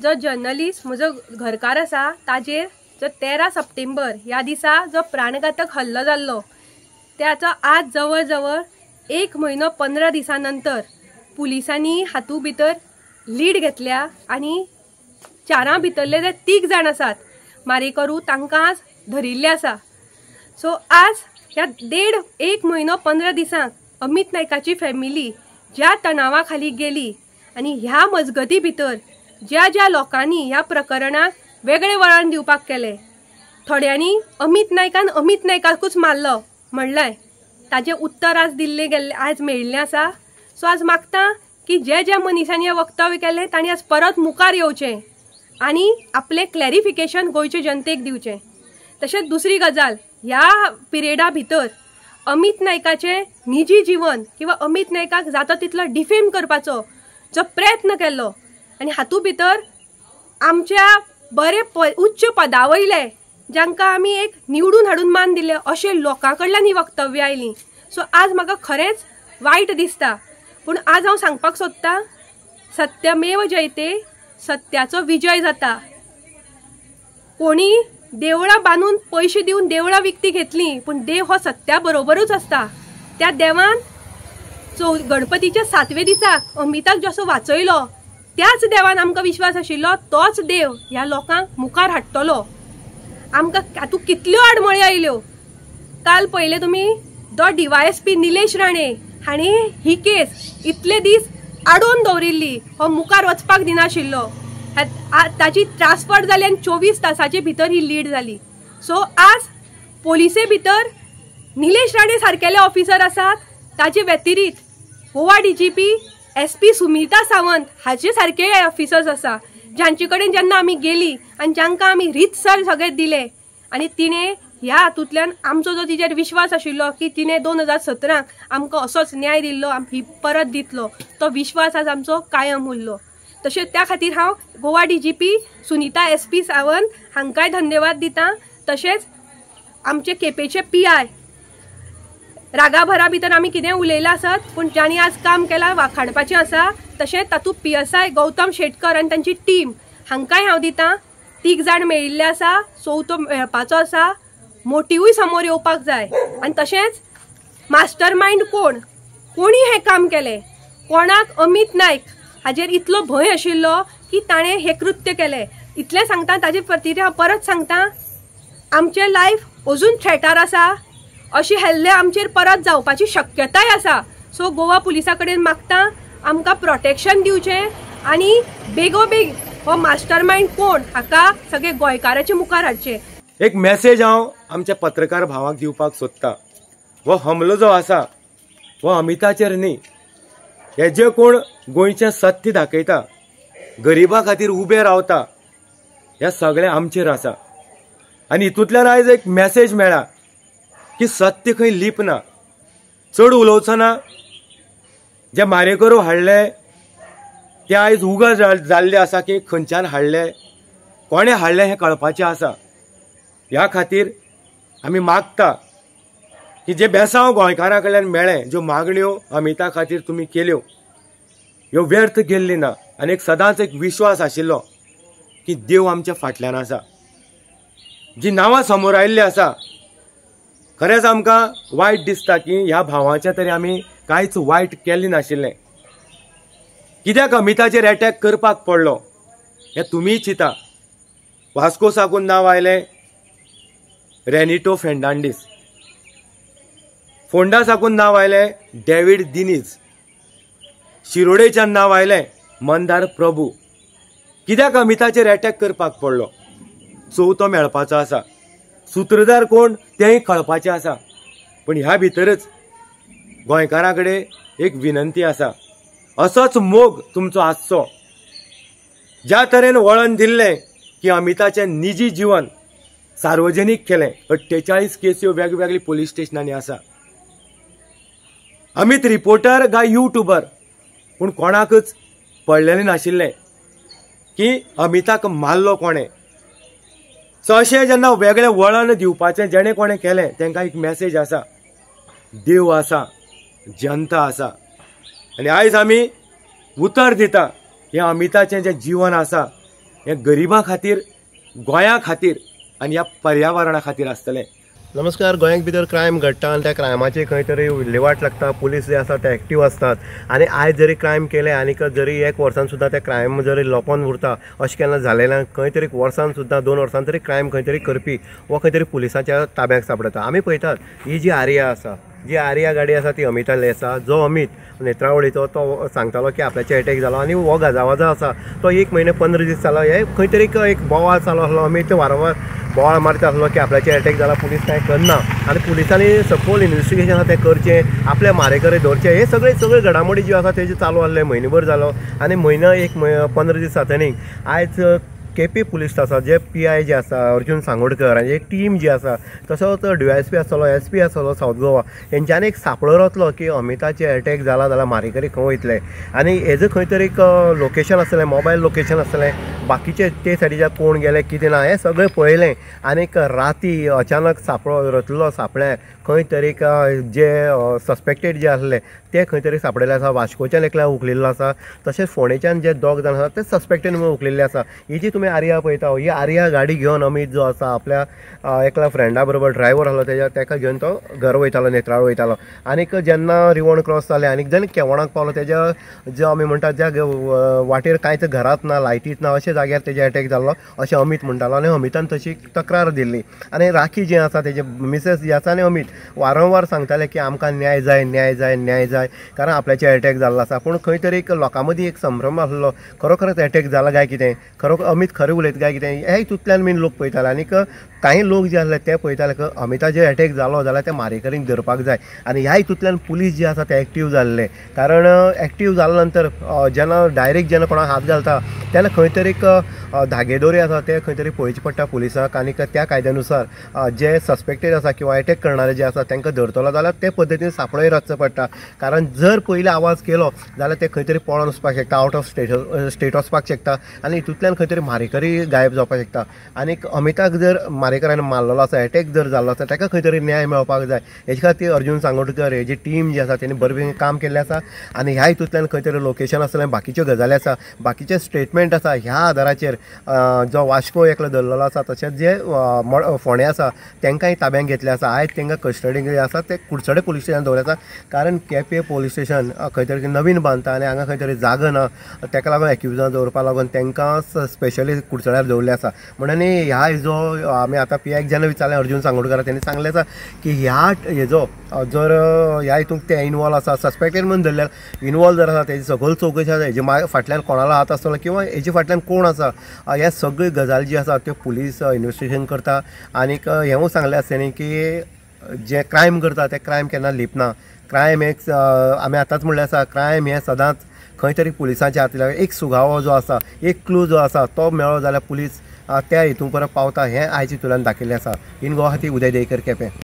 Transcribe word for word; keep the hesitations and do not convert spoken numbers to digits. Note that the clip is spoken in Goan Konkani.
जो जर्नलिस्ट म्हजो घरकार आसा ताजेर जो तेरा सप्टेंबर ह्या दिसा जो प्राणघातक हल्लो जाल्लो त्याचो आज जवळ जवळ एक म्हयनो पंदरा दिसां नंतर पुलिसांनी हातूंत भितर लीड घेतल्या आनी चारां भितरले जे तीग जाण आसात मारेकरू तांकां आज धरिल्ले आसा। सो आज ह्या देड एक म्हयनो पंदरा दिसांक अमित नायकाची फॅमिली ज्या तणावा खाली गेली आनी ह्या मजगती भितर ज्या ज्या लोकांनी ह्या प्रकरणाक वेगळे वळण दिवपाक केलें, थोड्यांनी अमित नायकान अमित नायकाकूच मारलो म्हणलें, ताजें उत्तर आज दिल्लें गेल्लें आज मेळिल्लें आसा। सो आज मागता की जे ज्या मनशांनी हें वक्तव्य केलें तांणी आज परत मुखार येवचें आनी आपलें क्लॅरिफिकेशन गोंयचे जनतेक दिवचें। तशेंच दुसरी गजाल, ह्या पिरियडा भितर अमित नायकाचें निजी जीवन किंवा अमित नायकाक जाता तितलो डिफेम करपाचो जो प्रयत्न केल्लो आनी हातूंत भितर आमच्या बरे उच्च पदा वयले जांकां आमी एक निवडून हाडून मान दिले अशे लोकां कडल्यान ही वक्तव्य आयलीं। सो आज म्हाका खरेंच वायट दिसता, पूण आज हांव सांगपाक सोदतां सत्यमेव जयते, सत्याचो विजय जाता। कोणी देवळां बांदून पयशे दिवन देवळां विकती घेतली पूण देव हो सत्या बरोबरूच आसता। त्या देवान चौ गणपतीच्या सातवे दिसाक अमिताक जसो वाचयलो त्याच देवान आमकां विश्वास आशिल्लो तोच देव ह्या लोकांक मुखार हाडटलो। आमकां हातूंत कितल्यो आडमळी आयल्यो, काल पळयलें तुमी दो D Y S P Nilesh Rane हांणी ही केस इतले दीस आडोवन दवरिल्ली, हो मुखार वचपाक दिनाशिल्लो, ताची ट्रान्सफर जाली आनी चोवीस तासाचे भितर ही लीड जाली। सो आज पोलिसे भितर निलेश राणे सारकेले ऑफिसर आसात, ताचे व्यतिरिक्त Goa D G P S P Sunita Sawant हाचे सारके ऑफिसर्स आसा जांचे कडेन जेन्ना आमी गेली आनी जांकां आमी रितसर सगळें दिलें आनी तिणें ह्या हातूंतल्यान आमचो जो तिचेर विश्वास आशिल्लो की तिणें दोन हजार सतराक आमकां असोच न्याय दिल्लो ही परत दितलो, तो विश्वास आज आमचो कायम उरलो। तशेंच त्या खातीर हांव Goa D G P Sunita S P Sawant हांकांय धन्यवाद दिता। तशेंच आमचे केपेचे पी I रागाभरा भितर आमी कितें उलयलां आसत पूण जांणी आज काम केलां वाखाणपाचें आसा। तशेंच तातूंत P S I Gautam Shetkar आनी तांची टीम हांकांय हांव दिता। तीग जाण मेळिल्ले आसा, चवथो मेळपाचो आसा, मोटिवूय समोर येवपाक जाय। आनी तशेंच मास्टर मायंड कोण, कोणी हें काम केलें, कोणाक अमित नायक हाजेर इतलो भंय आशिल्लो की ताणें हें कृत्य केलें, इतलें सांगता। ताजे प्रतिक्रिया हांव परत सांगता, आमचें लायफ अजून थ्रेटार आसा, अशे हल्ले आमचेर परत जावपाची शक्यताय आसा। सो गोवा पुलिसा कडेन मागता आमकां प्रोटेक्शन दिवचें आनी बेगोबेग हो मास्टर मायंड कोण हाका सगळे गोंयकाराचे मुखार हाडचें। एक मेसेज हांव आमच्या पत्रकार भावाक दिवपाक सोदता, हो हमलो जो आसा हो अमिताचेर न्ही, हे जे कोण गोंयचें सत्य दाखयता, गरिबा खातीर उबे रावता, हे सगळें आमचेर आसा। आनी हितूंतल्यान आयज एक मेसेज मेळ्ळा की सत्य खंय लिपना, चड उलोवचो ना। जे मारेकरू हाडले ते आयज उगड जाल्ले आसा की खंयच्यान हाडले, कोणें हाडले हें कळपाचें आसा। ह्या खातीर आमी मागता की जे बेसांव गोंयकारां कडल्यान मेळ्ळें, ज्यो मागण्यो अमिता खातीर तुमी केल्यो ह्यो व्यर्थ गेल्ली ना। आनी एक सदांच एक विश्वास आशिल्लो की देव आमच्या फाटल्यान आसा। जी नांवां समोर आयिल्ली आसा खरेंच आमकां वायट दिसता की ह्या भावाचें तरी आमी कांयच वायट केल्लें नाशिल्लें। कित्याक अमिताचेर एटॅक करपाक पडलो हें तुमीय चिंता। वास्को साकून नांव आयलें रेनिटो फेर्नांडीस, फोंडा साकून नांव आयलें डेवीड दिनीज, शिरोडेच्यान नांव आयलें मंदार प्रभू। कित्याक अमिताचेर एटॅक करपाक पडलो? चवथो मेळपाचो आसा, सूत्रधार कोण तेंय कळपाचें आसा। पूण ह्या भितरच गोंयकारां कडेन एक विनंती आसा, असोच मोग तुमचो आसचो। ज्या तरेन वळण दिल्लें की अमिताचें निजी जिवन सार्वजनीक केलें, अठ्ठेचाळीस केस्यो वेगवेगळी पोलीस स्टेशनांनी आसा। अमित रिपोर्टर काय युट्यूबर, पूण कोणाकच पडलेलें नाशिल्लें की अमिताक मारलो कोणें। सो अशें जेन्ना वेगळें वळण दिवपाचें जेणें कोणें केलें तांकां एक मॅसेज आसा, देव आसा, जनता आसा। आनी आयज आमी उतर दिता हें अमिताचें जें जिवन आसा हें गरिबां खातीर, गोंया खातीर आनी ह्या पर्यावरणा खातीर आसतलें। नमस्कार। गोंयांत भितर क्रायम घडटा आनी त्या क्रायमाची खंय तरी विल्हेवाट लागता, पुलीस जे आसा ते एक्टीव आसतात आनी आयज जरी क्रायम केले आनीक जरी एक वर्सान सुद्दां ते क्रायम जरी लोपोन उरता अशें केन्ना जालें ना। खंय तरी वर्सान सुद्दां दोन वर्सान तरी क्रायम खंय तरी करपी वो खंय तरी पुलिसांच्या ताब्याक सांपडटा। आमी पळयतात ही जी आर्या आसा, जी आर्या गाडी आसा ती अमिताली आसा। जो अमित नेत्रावळीचो तो सांगतालो की आपल्याचे एटॅक जालो आनी हो गाजावाजा आसा तो एक म्हयने पंदरा दीस जालो, हे खंय तरी एक बोवाळ चालू आसलो। अमित वारंवार बोवाळ मारता आसलो की आपल्याचे एटॅक जाला, पुलीस कांय करना आनी पुलिसांनी सपोज इन्वेस्टिगेशन आसा तें करचें, आपल्या मारेकरे धरचें, हे सगळे सगळे घडामोडी ज्यो आसा तेजे चालू आसले। म्हयनोभर जालो आनी म्हयनो एक पंदरा दीस जातनी आयज केपी पुलीस आसा जे पी I जे आसा अर्जुन सांगोडकर आनी एक टीम जी आसा, तसोच डी एस पी आसतलो, एस पी आसतलो सावथ गोवा, हेंच्यांनी एक सांपळो रचलो की अमिताचे एटॅक जाला जाल्यार मारेकरी खंय वयतले आनी हेजो खंय तरी एक लोकेशन आसतलें, मोबायल लोकेशन आसतलें, बाकीचे ते सायडीच्या कोण गेले कितें ना हें सगळें पळयलें आनीक राती अचानक सांपळो रचलो। सांपळ्यार खंय तरी जे सस्पेक्टेड जे आसले ते खंय तरी सांपडिल्ले आसा। वास्कोच्यान एकल्या उखलिल्लो आसा, तशेंच फोंडेच्यान जे दोग जाण आसा ते सस्पेक्टेड म्हणून उखलिल्ले आसा। ही जी तुमी आर्या पळयता ही आर्या गाडी घेवन अमित जो आसा आपल्या एकल्या फ्रेंडा बरोबर ड्रायव्हर आसलो तेज्या तेका घेवन तो घर वयतालो, नेत्रावळ वयतालो आनीक जेन्ना रिवण क्रॉस जालें आनीक जेन्ना केवणाक पावलो तेज्या जो आमी म्हणटा ज्या वाटेर कांयच घरांत ना, लायटीत ना अशे जाग्यार तेजे एटॅक जाल्लो अशें अमित म्हणटालो आनी अमितान तशी तक्रार दिल्ली। आनी राखी जी आसा तेजे मिसेस जी आसा आनी अमित वारंवार सांगताले की आमकां न्याय जाय, न्याय जाय, न्याय जाय, कारण आपल्याचे एटॅक जाल्लो आसा। पूण खंय तरी एक लोकां मदीं एक संभ्रम आसलो, खरोखरच एटॅक जाला काय कितें, खरोखर अमित खरें उलयता काय कितें, हे हितूंतल्यान मेन लोक पळयताले। आनीक कांय लोक जे आसले ते पळयताले की अमिताचेर एटॅक जालो जाल्यार ते मारेकरींक धरपाक जाय आनी ह्या हितूंतल्यान पुलीस जे आसा ते एक्टीव जाल्ले। कारण एक्टीव जाल्या नंतर जेन्ना डायरेक्ट जेन्ना कोणाक हात घालता तेन्ना खंय तरी एक धागेदोरी आसा ते खंय तरी पळोवची पडटा पुलिसांक आनीक त्या कायद्यानुसार जे सस्पेक्टेड आसा किंवा एटॅक करणारे जे आसा तांकां धरतलो जाल्यार ते पद्दतीन सांपळोय रचचो पडटा। कारण जर पयलीं आवाज केलो जाल्यार ते खंय तरी पळोन वचपाक शकता, आउट ऑफ स्टेट स्टेट वचपाक शकता आनी हितूंतल्यान खंय तरी मारेकरी गायब जावपाक शकता। आनीक अमिताक जर मारेकऱ्यान मारलेलो आसा, एटॅक जर जाल्लो आसा ताका खंय तरी न्याय मेळपाक जाय। हेजे खातीर अर्जुन सांगोडकर हेजी टीम जी आसा तेणी बरे काम केल्लें आसा आनी ह्या हितूंतल्यान खंय तरी लोकेशन आसलें, बाकीच्यो गजाली आसा, बाकीचे स्टेटमेंट आसा, ह्या आदाराचेर जो वास्को एकलो धरलेलो आसा तशेंच जे फोंडे आसा तांकांय ताब्यांत घेतले आसा। आयज तांकां कस्टडीक जे आसा ते कुडचडे पुलीस स्टेशन दवरले आसा, कारण केपे पुलीस स्टेशन खंय तरी नवीन बांदता आनी हांगा खंय तरी जागो ना, ताका लागून एक्युजां दवरपा लागून तांकां स्पेशली कुडचड्यार दवरले आसा। म्हणून ह्या हेजो आमी आतां पी आयक जेन्ना विचारलें अर्जुन सांगोडकर तेणी सांगलें आसा की ह्या हेजो जर ह्या हितूंत ते इनवॉल्व आसा, सस्पेक्टेड म्हणून धरल्यार इनवॉल्व जर आसा तेजी सगळी चवकशी आसा, हेजे फाटल्यान कोणालो हात आसतलो किंवा हेजे फाटल्यान कोण आसा, ह्या सगळ्यो गजाली जी आसा त्यो पुलीस इन्वेस्टिगेशन करता। आनीक हेंवूय सांगलें आसा तेणी की जे क्रायम करता ते क्रायम केन्ना लिपना, क्रायम एक आमी आतांच म्हणलें आसा क्रायम हें सदांच खंय तरी पुलिसांच्या हातीक एक सुगावो जो आसा, एक क्लू जो आसा तो मेळ्ळो जाल्यार पुलीस त्या हितून परत पावता हें आयज हितूंतल्यान दाखयल्लें आसा। इन गोवा खातीर उदय देयकर, केपें।